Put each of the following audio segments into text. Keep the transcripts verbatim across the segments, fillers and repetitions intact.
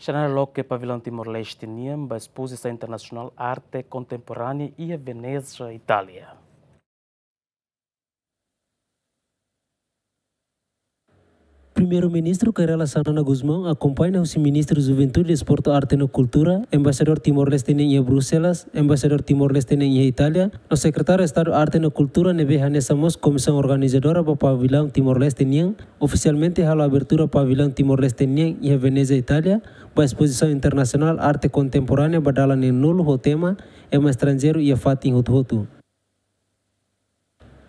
Xanana loke Pavilaun Timor-Leste nian ba Espozisaun Internasionál Arte Kontemporánea iha Veneza, Itália. Primeiru-Ministru Kay Rala Xanana Gusmão, akompaña husi Ministru Juventude, Desportu, Arte no Kultura, Embaixadór Timor-Leste nian iha Bruxelas, Embaixadór Timor-Leste nian iha Itália, no Sekretáriu Estadu Arte no Kultura ne'ebé hanesan mós komisaun organizadora ba Pavilaun Timor-Leste nian, ofisialmente halo abertura Pavilaun Timor-Leste nian iha Veneza, Itália, ba Espozisaun Internasionál Arte Kontemporánea ba dala neenulu ho tema Ema Estranjeiru iha Fatin Hotu-Hotu.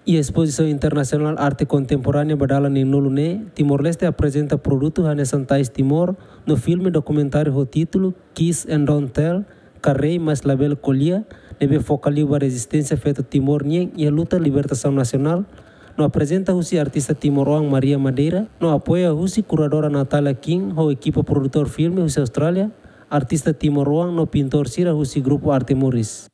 Iha Espozisaun Internasionál Arte Kontemporánea ba dala neenulu ne'e, Timor-Leste aprezenta produtu hanesan Tais Timor, no filme dokumentáriu ho títulu Kiss and Don't Tell, ka Rei Mas Labele Ko'alia, ne'ebé foka liu ba rezisténsia feto Timor nian iha luta libertasaun nasionál, no aprezenta husi artista timoroan Maria Madeira, no apoia husi kuradora Natalia Kim ho ekipa produtór filme husi Austrália, artista timoroan no pintór sira husi grupu Arte Moris.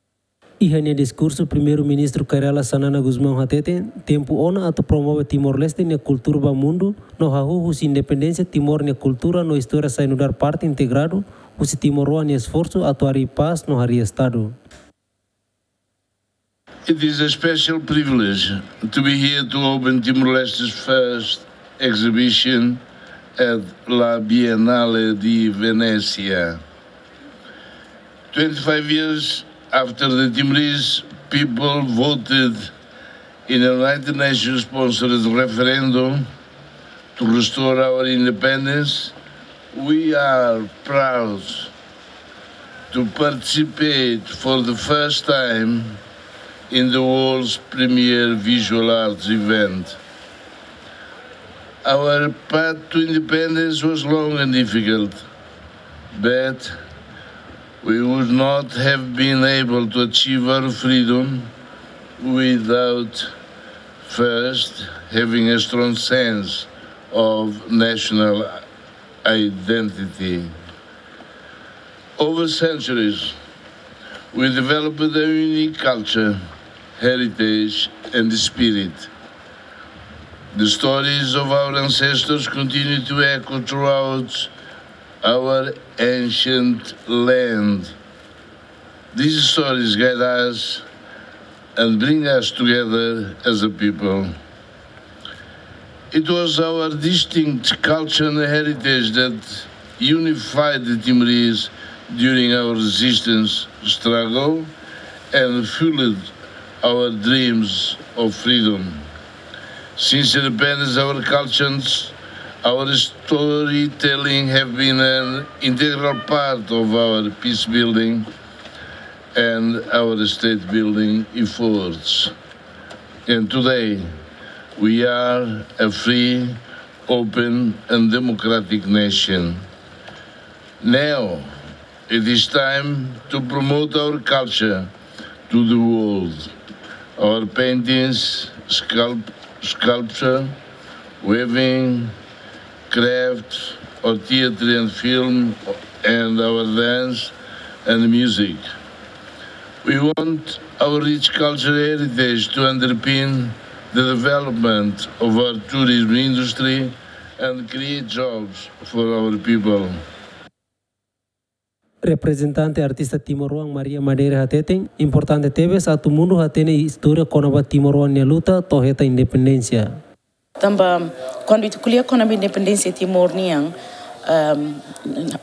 Iha nia diskursu, Primeiru-Ministru Kay Rala Xanana Gusmão hateten, tempu ona atu promove Timor-Leste nia kultura ba mundu, no hahú husi independénsia Timor nia kultura no istória sai nu'udar parte integradu husi timoroan nia esforsu atu harii pás no harii Estadu. It is a special privilege to be here to open Timor-Leste's first exhibition at La Biennale di Venezia. Twenty-five years after the Timorese people voted in a United Nations sponsored referendum to restore our independence, we are proud to participate for the first time in the world's premier visual arts event. Our path to independence was long and difficult, but we would not have been able to achieve our freedom without first having a strong sense of national identity. Over centuries, we developed a unique culture, heritage, and spirit. The stories of our ancestors continue to echo throughout our ancient land. These stories guide us and bring us together as a people. It was our distinct culture and heritage that unified the Timorese during our resistance struggle and fueled our dreams of freedom. Since independence, our cultures, our storytelling have been an integral part of our peace building and our state building efforts. And today, we are a free, open, and democratic nation. Now, it is time to promote our culture to the world. Our paintings, sculpt-, sculpture, weaving, craft, or theatre and film, and our dance and music. We want our rich cultural heritage to underpin the development of our tourism industry and create jobs for our people. Reprezentante artista timoroan Maria Madeira hateten, importante tebes atu mundu hatene istória kona-ba timoroan nia luta to'o hetan independénsia. Tanba, kuandu ita ko'alia kona-ba independénsia Timor nian, ehm,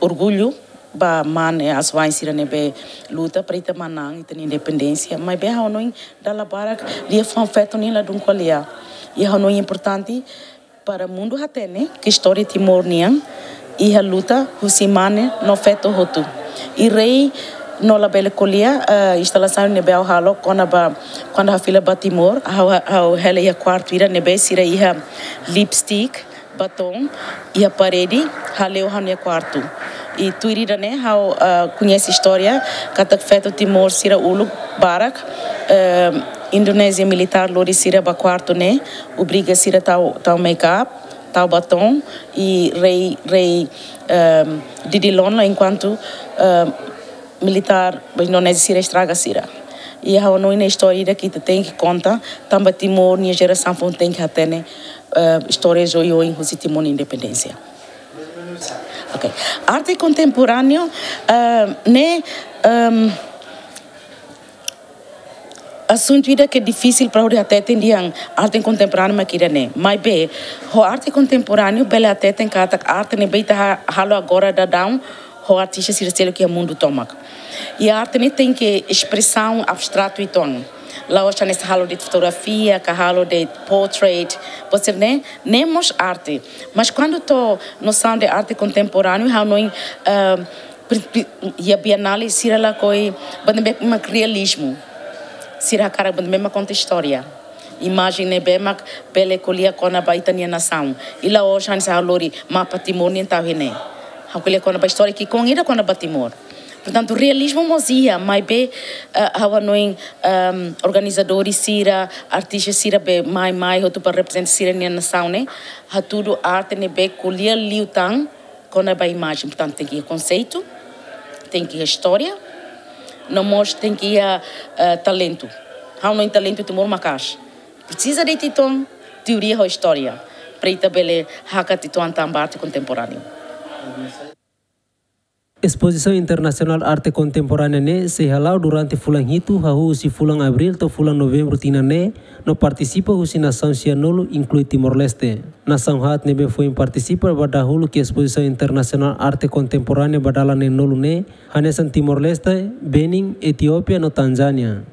orgullu ba mane asuwa'in sira ne'ebé luta para ita manán ita-nia independénsia. Maibé ha'u hanoin dala barak liafuan feto nian ladún ko'alia. I ha'u hanoin importante para mundu hatene ke istória Timor nian iha luta husi mane no feto hotu. I Rei no Labele Ko'alia, eh, instalasaun ne'ebé ha'u halo kona-ba, kuandu ha'u fila ba Timor, ha'u, ha'u hela iha kuartu ida ne'ebé sira iha lipstick, baton, iha parede, hale'u ha'u-nia kuartu. I tuir ida-ne'e ha'u, eh, koñese istória katak feto Timor sira uluk barak, eh, Indonézia militár lori sira ba kuartu ne'e, obriga sira tau, tau make-up, tau baton, i rei, rei, ehm, didilon la enkuantu, ehm, militár ba Indonézia sira estraga sira. I ha'u hanoin ne'e istória ida ke ita tenke konta, tanba Timor nia jerasaun foun tenke hatene, eh, istória oioin husi Timor nia independénsia. Ok. Arte kontemporáneu, ah, ne'e, ehm, asuntu ida ke difisil para hodi hateten dehan arte kontemporáneu mak ida-ne'e. Maibé, ho arte kontemporáneu bele hateten katak arte ne'ebé ita ha-, halo agora daudaun, ho artista sira seluk iha mundu tomak. I arte ne'e tenke espresaun abstratu uitoan. La'ós hanesan halo de'it fotografia, ka halo de'it portrait, buat sira-ne'e, ne'e mós arte. Mas kuandu to'o nosaun de arte kontemporáneu, ha'u hanoin, ah, pri-, pri-, iha bienale sira lakohi buat ne'ebé mak realizmu. Sira hakarak buat ne'ebé mak konta istória. Imajen ne'ebé mak bele ko'alia kona-ba ita-nia nasaun. I la'ós hanesan ha'u lori mapa Timor nian tau iha ne'e. Ha'u ko'alia kona-ba istória ki'ikoan ida kona-ba Timor. Portantu, realizmu mós iha, maibé, eh, ha'u hanoin, ehm, organizadór sira, artista sira be mai, mai hotu para reprezenta sira-nia nasaun ne'e, hatudu arte ne'ebé ko'alia liután kona-ba imajen. Portantu, tenke iha konseitu, tenke iha istória, no mós tenke iha, eh, talentu. Ha'u hanoin talentu Timor maka'as. Presiza de'it uitoan teoria ho istória, para ita bele hakat uitoan tanba arte kontemporáneu. Espozisaun Internasionál Arte Kontemporánea ne'e sei hala'o durante fulan hitu, hahú husi fulan Abríl to'o fulan Novembru tinan ne'e, no partisipa husi nasaun sianulu, inklui Timor-Leste. Nasaun haat ne'ebé foin partisipa ba dahuluk iha Espozisaun Internasionál Arte Kontemporánea ba dala neenulu ne'e, hanesan Timor-Leste, Benin, Etiópia no Tanzánia.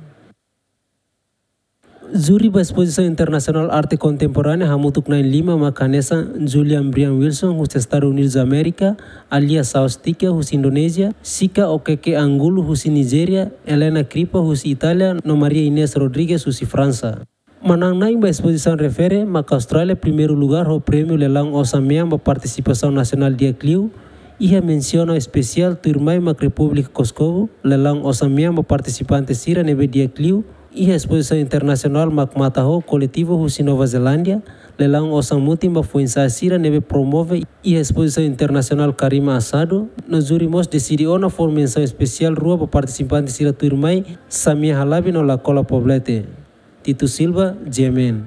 Júri ba Espozisaun Internasionál Arte Kontemporánea hamutuk na'in lima mak hanesan Julian Brian Wilson husi Estadus Unidus Amérika, Alia Saostika husi Indonézia, Sika Okeke Angulo husi Nijéria, Helena Kripa husi Itália, no Maria Inês Rodrigues husi Fransa. Manán-na'in ba espozisaun refere mak Austrália primeiru lugar ho prémiu lelaun osan-mean ba partisipasaun nasionál di'ak liu, iha mensaun espesiál tuirmai mak Repúblika Kosovu, lelaun osan-mean ba partisipante sira ne'ebé di'ak liu, iha espozisaun internasionál mak Mataho Koletivu husi Nova Zelándia, lelaun osan-mutin ba foin-sa'e sira ne'ebé promove iha espozisaun internasionál Karima Asado, no júri mós deside ona fó mensaun espesiál rua ba partisipante sira tuirmai Samia Halabi no Lakola Poblete. Tito Silva, G M N.